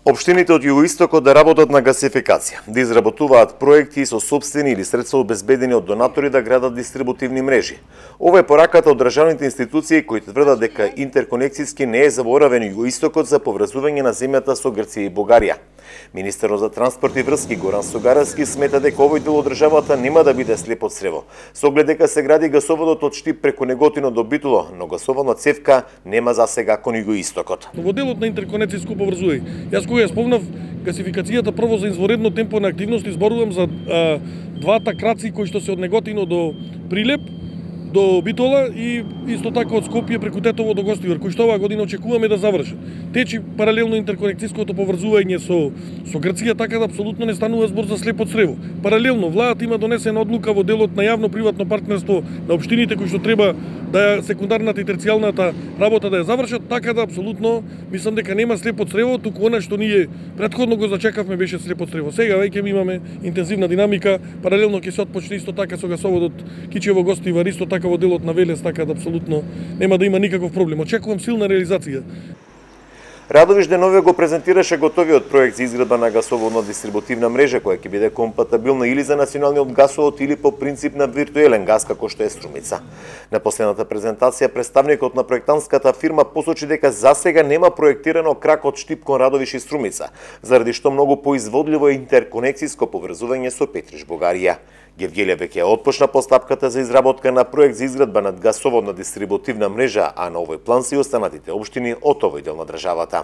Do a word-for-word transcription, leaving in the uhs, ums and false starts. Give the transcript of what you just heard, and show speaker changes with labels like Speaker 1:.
Speaker 1: Општините од југоистокот да работат на гасификација, да изработуваат проекти со собствени или средства обезбедени од донатори да градат дистрибутивни мрежи. Ова е пораката од државните институции кои тврдат дека интерконекцијски не е заборавен југоистокот за поврзување на земјата со Грција и Бугарија. Министерот за транспорт и врски Горан Сугаровски смета дека овој дел од државата нема да биде слеп од црево, со оглед дека се гради гасоводот од Штип преку Неготино до Битоло, но гасоводна цевка нема за сега кон југоистокот.
Speaker 2: Во делот на интерконекцијско поврзување, јас кога ја спомнав гасификацијата прво за изворедно темпо на активности, зборувам за а, двата краци кои што се од Неготино до Прилеп, до Битола и исто така од Скопје преку Тетово до Гостивар, кои што оваа година очекуваме да завршат. Течи паралелно интерконекцијското поврзување со со Грција, така да апсолутно не станува збор за слепо црево. Паралелно владата има донесена одлука во делот на јавно-приватно партнерство на општините кои што треба да секундарната и терцијалната работа да ја завршат, така да апсолутно мислам дека нема слепо црево, туку она што ние претходно го зачекавме беше слепо црево. Сега веќе имаме интензивна динамика, паралелно ќе се отпочне исто така со гасоводот Кичево Гостивар, исто така во делот на Велес, така да апсолутно нема да има никаков проблем. Очекувам силна реализација.
Speaker 1: Радовиш Деновиот го презентираше готовиот проект за изградба на гасоводна дистрибутивна мрежа која ќе биде компатибилна или за националниот гасовод или по принцип на виртуелен гас како што е Струмица. На последната презентација представникот на проектантската фирма посочи дека засега нема проектирано крак од Штип кон Радовиш и Струмица, заради што многу поизводливо е интерконекцијско поврзување со Петриш, Бугарија. Гевгелија веќе отпочна постапката за изработка на проект за изградба на гасоводна дистрибутивна мрежа, а на овој план се и останатите општини од овој дел на државата.